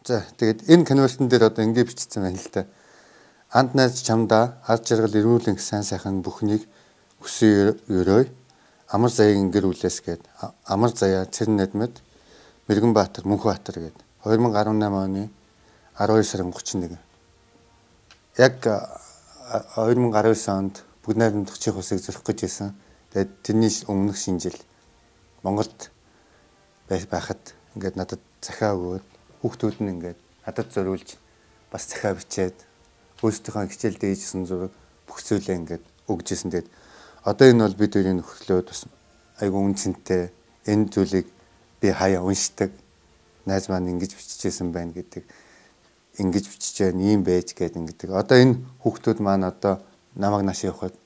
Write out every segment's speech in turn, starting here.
За тэгээд энэ конвертн дээр одоо ингэ бичсэн байна л да. Анд найз чамдаа ар жаргал эрүүлэн сайн сайхан бүхнийг хүсэн өрөө амар заягийн гэр бүлээс гээд амар заяа Цэрэн Надмад Мэргэн Баатар Мөнхбаатар гээд 2018 оны 12 сарын 31. Яг 2019 онд бүгд найрамдах чих усыг зөрөх гэж байсан. Тэгээд тэрний өмнөх шинэ жил Монголд байхад ингээд надад захиа өгөөд хүүхдүүд нь ингээд надад зориулж бас захиа бичээд өөрсдийнхөө хичээл дээжсэн зураг бүх зүйлээ ингээд өгжсэн. Тэгээд одоо энэ бол бид хоёрын нөхөрлөө бас айгу үнцэнтэй энэ зүйлийг би хаяа уншдаг. Найз маань ингэж бичижсэн байна гэдэг. Ингэж бичиж байна, ийм байж гэдэг ингэдэг. Одоо энэ хүүхдүүд маань одоо намайг нааш явахад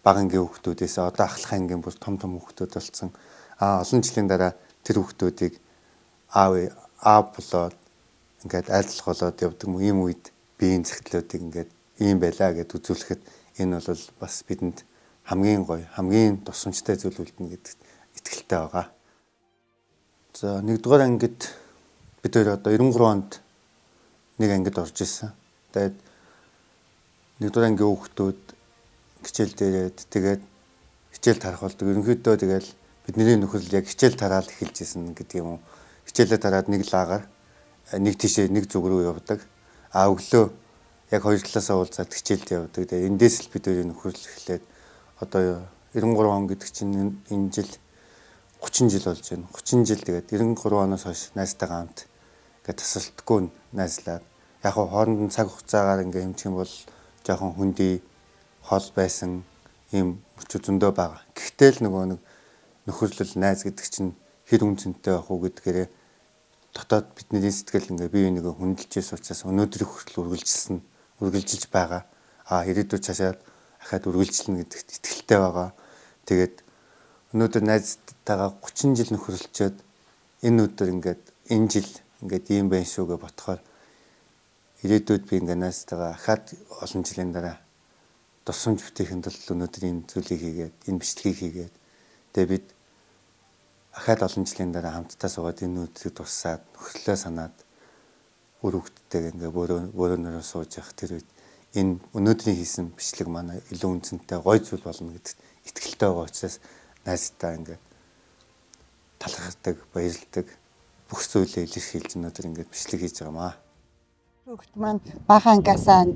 бага ангийн хүүхдүүдээс одоо ахлах ангийн бүр том хүүхдүүд болсон. Олон жилийн дараа тэр хүүхдүүдийг аав болоод ингээд айлтлах болоод явдаг юм үед биеийн цагтлуудыг ингээд ийм байлаа гэд үзүүлэхэд энэ бол бас бидэнд хамгийн гоё, хамгийн тусламжтай зүйл үлдэнэ гэдэгт итгэлтэй байгаа. За 1-р ангид бид хоёр одоо 93 онд нэг ангид орж исэн. Тэгээд 1-р ангийн хүүхдүүд хичээл дээрээд тэгээд хичээл тарах болдог. Ерөнхийдөө тэгэл бидний нөхөрлөл яг хичээл тараал эхэлж исэн гэдэг юм уу. Хичээлээ тараад нэг лагаар нэг тишээ нэг зүг рүү явдаг. Өглөө яг хоёр талаасаа уулзаад хичээлд явдаг. Тэгээд эндээс л бид хоёрын нөхөрлөл эхлээд одоо 93 он гэдэг чинь энэ жил 30 жил болж байна. 30 жил тэгээд 93 оноос хойш найзтайгаа хамт ингээд тасралтгүй найзлаад яг хооронд нь цаг хугацаагаар ингээд хэмжих юм бол жоохон хүндий хол байсан ийм өчөө зөндөө байгаа. Гэхдээ л нөгөө нэг нөхөрлөл найз гэдэг чинь хэр үнцэнтэй байх уу гэдгээрээ дотоод бидний сэтгэл ингээ бие биенийгээ хүндэлжээс учраас өнөөдрийн хүртэл үргэлжилж байгаа. Ирээдүйд цаашаа ахаад үргэлжлэнэ гэдэгт итгэлтэй байгаа. Тэгээд өнөөдөр найзтайгаа 30 жил нөхөрлөчөөд энэ өдөр ингээд энэ жил ингээд ийм байх шүүгээ ботхоор ирээдүйд би ингээ найзтайгаа ахаад олон жилийн дараа тусламж бүтээхэд л өнөөдөр энэ зүйлийг хийгээд энэ бичлэгийг хийгээд тэгээд бид ахаад олон жилийн дараа хамтдаа суугаад энэ өдрийг дуусаад нөхөрлөө санаад үр хөвгттэйг ингээ бөөрөнөрөө сууж явах тэр үед энэ өнөөдрийн хийсэн бичлэг манай илүү үнцэнтэй гоё зүйл болно гэдэгт итгэлтэй байгаа учраас найзтай ингээ талархдаг, баярлдаг бүх зүйлээ илэрхийлж өнөөдөр ингээ бичлэг хийж байгаамаа. Хүүхд маань бага ангиасаа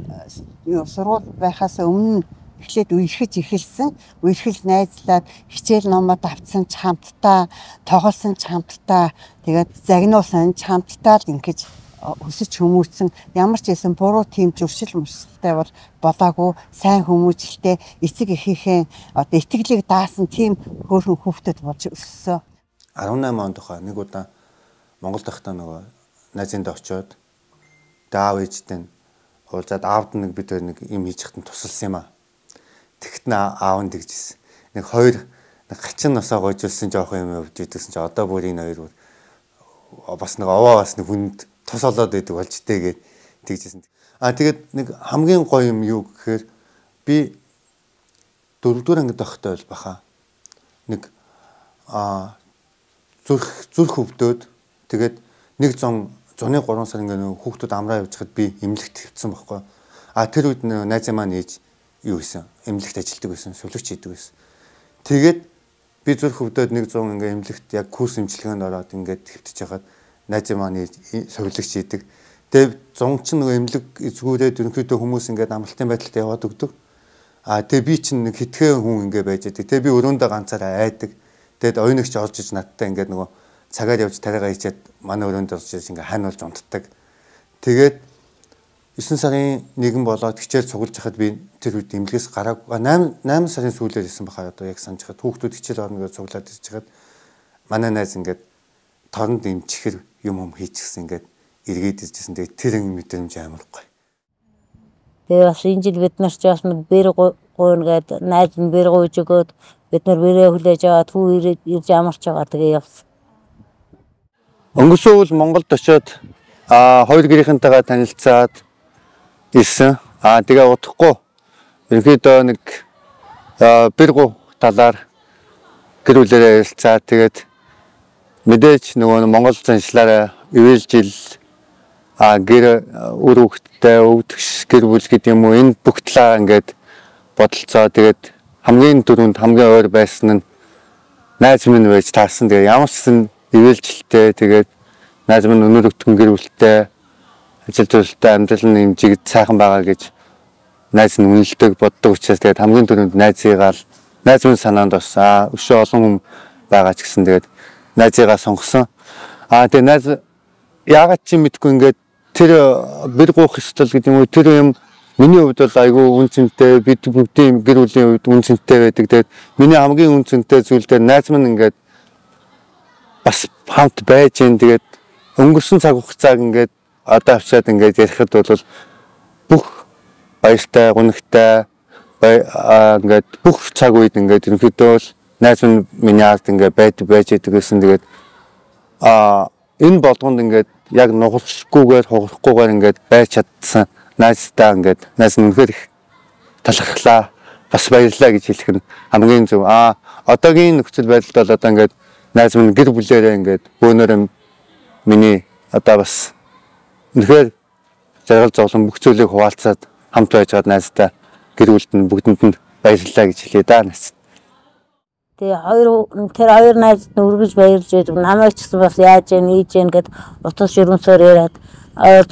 сургууль байхаас өмнө эхлээд үерхэж эхэлсэн. Үерхэл найзлаад хичээл номод авцсан ч хамтдаа, тоглосон ч хамтдаа, тэгээд загнуулсан ч хамтдаа л ингэж өсөж хүмүүжсэн. Ямар ч байсан буруу тийм зуршил мөрсөлтэй бол болоогүй. Сайн хүмүүжлтэй эцэг эхийнхээ одоо итгэлийг даасан тийм хөөрхөн хүүхдэд болж өссөн. 18 онд хаа нэг удаа Монголд байхдаа нөгөө найзынд очиод аав ээжтэй уулзаад аавд нэг бид нэг юм хийж хатан тусалсан юм аа. Тэгт аав нь тэгжсэн. Нэг хоёр гачин носоо гойжулсан жоох юм явж идэгсэн чи одоо бүр энэ хоёр бас нэг овоо бас нэг хүнд тус олоод байдаг болж тээгээд тэгжсэн. Тэгээд нэг хамгийн гоё юм юу гэхээр би 4-р ангид байхдаа бол баха нэг зүрх хөвдөөд тэгээд нэг зуны 3 сар ингээ хүүхдүүд амраа явж хад би эмнэлэгт хэвцсэн байхгүй. Тэр үед найз маань ээж юу гэсэн эмнэлэгт ажилладаг байсан, сүлэгч хийдэг байсан. Тэгээд би зүрх хөвдөөд нэг 100 ингээ эмнэлэгт яг курс эмчилгээнд ороод ингээ хэвтэж хахад найз маань ээж сүлэгч хийдэг. Тэгээд 100 ч нэг эмнэлэг эзгүүрээд ерөнхийдөө хүмүүс ингээ амралтын байдалтай яваад өгдөг. Тэгээд би чинь нэг хитгэн хүн ингээ байж байдаг. Тэгээд би өрөөндөө ганцаараа айдаг. Тэгээд оюунагч орж иж надтай ингээ нөгөө цагаар явж тариагаа хийчихэд манай өрөөнд орж ирж ингээ хань болж унтдаг. Тэгээд 9 сарын 1 болоод хичээл цуглаж хахад би тэр үед эмнэлгээс гараагүй 8 сарын сүүлээр ирсэн баха одоо яг санаж хахад хүүхдүүд хичээл орно гэж цуглаад ирж хахад манай найз ингээд торонд эмчихэр юм хийчихсэн ингээд эргээд иржсэн. Тэгээд тэр мэдрэмж амар гоё. Тэгээ бас энэ жил бид нар ч бас бэр гуйна гээд найз нь бэр гуйж өгөөд бид нар бэрээ хүлээж аваад хүү ирж амарч байгаа тэгээ явсан. Өнгөрсөн үйл Монголд очиод хоёр гэрийнхэнтэйгээ танилцаад ирсэн. Тэгээ удахгүй ерөнхийдөө нэг бэр гу талаар гэр бүлээрээ ярилцаад тэгээд мэдээж нөгөө Монгол заншлаараа ивэл жил гэр үр хөвгттэй өвдөгч гэр бүл гэдэг юм уу энэ бүх талаа ингээд бодолцоо тэгээд хамгийн дөрөнд хамгийн ойр байсан нь найз минь байж таарсан. Тэгээд ямар ч сан ивэлжилтэй тэгээд найз минь өнөр өтгөн гэр бүлтэй ажил төрөлтэй амьдрал нь юм жиг сайхан байгаа гэж найз нь үнэлдэг боддог учраас тэгээд хамгийн дөрөнд найзыгаа найз минь санаанд орсон. Өшөө олон хүн байгаа ч гэсэн тэгээд найзыгаа сонгосон. Тэгээд найз яагаад ч мэдгүй ингээд тэр бэр гуух ёслол гэдэг юм уу тэр юм миний хувьд бол айгүй үнцэнтэй бид бүгдийн гэр бүлийн хувьд үнцэнтэй байдаг. Тэгээд миний хамгийн үнцэнтэй зүйл дээр найз минь ингээд бас хамт байж гин тэгээд өнгөрсөн цаг хугацааг ингээд одоо авчаад ингээд ярихад бол бүх баяртай гунигтай ингээд бүх цаг үед ингээд ерөнхийдөө бол найз минь миний ард ингээд байж байдаг гэсэн. Тэгээд энэ болгонд ингээд яг нугалшгүйгээр хугарахгүйгээр ингээд байж чадсан найзтай ингээд найз нь үнэхээр их талархлаа бас баярлалаа гэж хэлэх нь хамгийн зөв. Одоогийн нөхцөл байдалд бол одоо ингээд найз минь гэр бүлээрээ ингээд бөөнөр миний одоо бас үнэхээр жаргал зовлон бүх зүйлийг хуваалцаад хамт байж байгаа найзтай гэр бүлд нь бүгдэнд нь баярлалаа гэж хэлье да найз. Тэгээ тэр хоёр найзд нь үргэлж баярлж байдаг. Намайг ч гэсэн бас яаж яа нийж яа гэд утас ширмсээр яриад ойр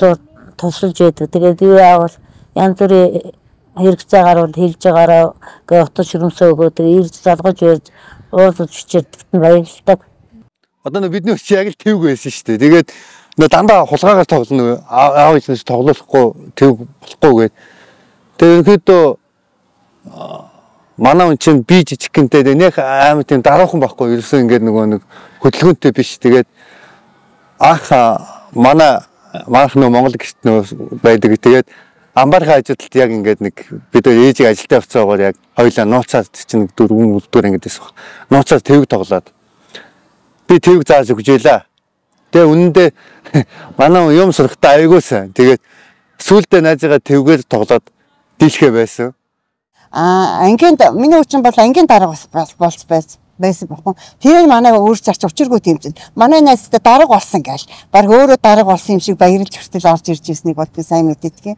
тусалж байдаг. Тэгээд юу яавал янз бүрийн хэрэгцээ гарвал хэлж байгаараа гээ утас ширмсөө өгөөд ирж залгаж байж уулзаж чичирдэгт нь баярлдаг. Одоо бидний өч яг л тэвг байсан шүү дээ. Тэгээд дандаа хулгаагаар тоглоно. Аав ээжнээс тоглохгүй тэвг болохгүй гээд. Тэгээд ерөнхийдөө манай хүн чинь би жижигхэнтэй нэх амар тийм дараахан байхгүй ерөөсөө ингээд нэг хөдөлгөөнтэй биш. Тэгээд манайх нөө Монгол гэрт нөө байдаг. Тэгээд амбархай ажилд яг ингээд нэг бид ээжийг ажилдаа явцаагаар яг хоёлаа нууцаад чинь 4 үлдүүр ингээд байсан баг. Нууцаад тэвг тоглоод би тэвг зааж өгч ялаа. Тэгээ үнэндээ манай юм сурахтаа аягуулсан. Тэгээд сүүлдээ найзыгаа тэвгээр тоглоод дийлхэ байсан. Ангийн миний хүчин бол ангийн дарга болсон байсан бохоо. Тэр манай өөр зарч учиргүй тийм чинь. Манай найзтай дарга болсон гээл. Баг өөрөө дарга болсон юм шиг баярлж хүртэл орж ирж ирснийг бол би сайн мэддэг.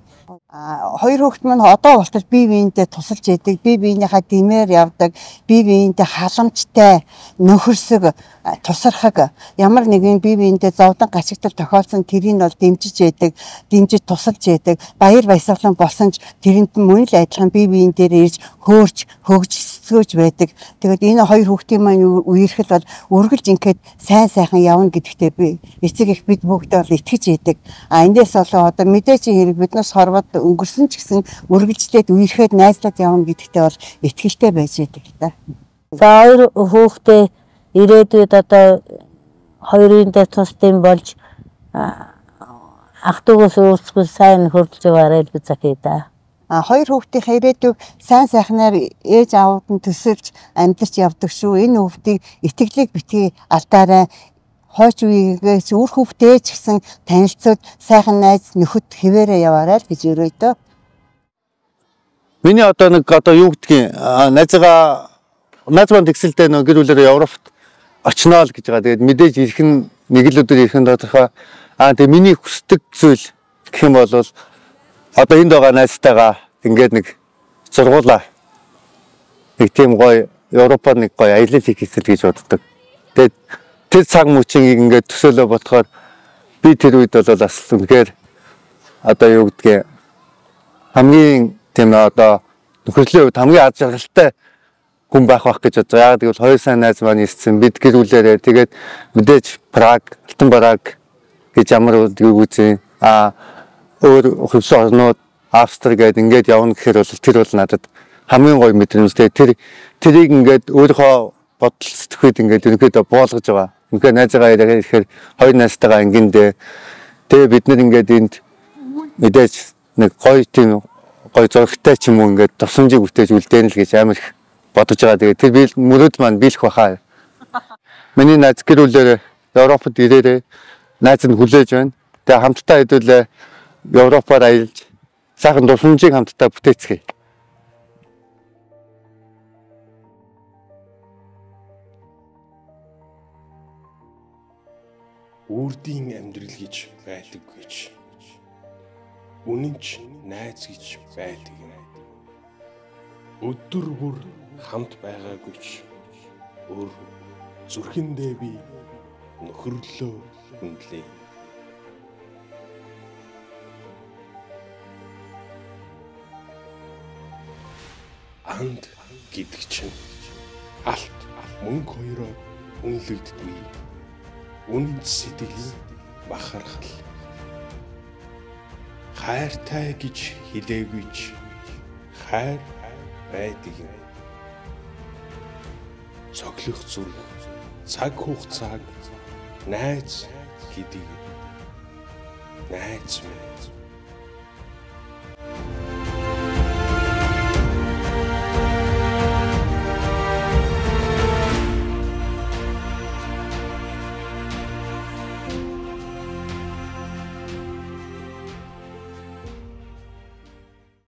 Хоёр хүүхэд маань одоо болтол бие биентэй тусалж яадаг, бие биенийхээ дэмээр явдаг, бие биентэй халамжтай, нөхөрсөг, тусархаг ямар нэгэн бие биентэй зовдон гачигдал тохиолдсон тэрийг бол дэмжиж яадаг, дэмжиж тусалж яадаг, баяр баясгалан болсон ч тэрэнд мөн л адилхан бие биен дээр ирж хөөрч, хөгжсгөөж байдаг. Тэгээд энэ хоёр хүүхдийн маань үерхэл бол үргэлж ингээд сайн сайхан явна гэдэгтээ би эцэг их бид бүгдээ бол итгэж яадаг. Эндээс болоо одоо мэдээч хэрэг биднээс хорвоод өнгөрсөн ч гэсэн үргэлжлээд үерхэд найзлаад явна гэдэгтээ бол итгэлтэй байж байдаг та. За хоёр хүүхдээ ирээдүйд одоо хоёрын дэс тусдын болж ах トゥ уус өөрсгөө сайн хөрдөлж байгаарай л үзэхээ да. Хоёр хүүхдийн ирээдүйг сайн сайхнаар ээж аавд нь төсөлж амьдарч явдаг шүү. Энэ хүүхдийг итгэлийг битгий алдаарай. Хойч үеигээс үр хүүхдээ ч гэсэн танилцуулж сайхан найз нөхөд хэвээрээ яваарай л гэж өрөөдөө. Миний одоо юу гэдгийг найз маань тэгсэлтэй гэр бүлээрээ Европт очноо л гэж байгаа. Тэгээд мэдээж ирэх нь нэг л өдөр ирэх нь тодорхой. Тэгээд миний хүсдэг зүйл гэх юм бол одоо энд байгаа найзтайгаа ингээд нэг сургуулаа нэг тийм гоё Европод нэг гоё аялал хийх гэсэн гэж боддог. Тэгээд тэр цаг мөчийг ингээд төсөөлөө бодохоор би тэр үед бол бас үнэхээр одоо юу гэдгийг хамгийн тийм одоо нөхөрлийн хувьд хамгийн аз жаргалтай хүн байх гэж бодож байгаа. Яагаад гэвэл хоёр сайн найз маань ирсэн бид гэр бүлээрээ тэгээд мэдээж Праг, Алтан бараг гэж ямар үгүй өөр хөвсөн орнууд Австри гээд ингээд явна гэхээр бол тэр бол надад хамгийн гоё мэдрэмжтэй. Тэрийг ингээд өөрийнхөө бодол сэтгэхүйд ингээд ерөнхийдөө буулгаж байгаа. Үнэхээр найзгаа ирэхээр хоёр найзтайгаа ингэндээ тэгээ бид нар ингээд энд мэдээж нэг гоё тийм гоё зурагтай ч юм уу ингээд тусламжийг бүтээж үлдээн л гэж амар их бодож байгаа. Тэгээ тэр би мөрөд маань биелэх баха. Миний найз гэр бүлээр Европод ирээрээ найз нь хүлээж байна. Тэгээ хамтдаа хэдүүлээ Европоор аялж сайхан тусламжийг хамтдаа бүтээцгээе. Үрдийн амьдрал гэж байдаг гэж үнэн ч найз гэж байдаг юм. Өдөр бүр хамт байгаагүй ч өөр зүрхэндээ би нөхөрлөө хүндлээ. Анд гэдэг чинь алт мөнгө хоёроо үнэлэгддгүй. Үнэн сэтгэлийн бахархал. Хайртай гэж хэлээгүй ч хайр байдаг юм. Цоглох зүрх, цаг хугацааг найз гэдэг. Найз минь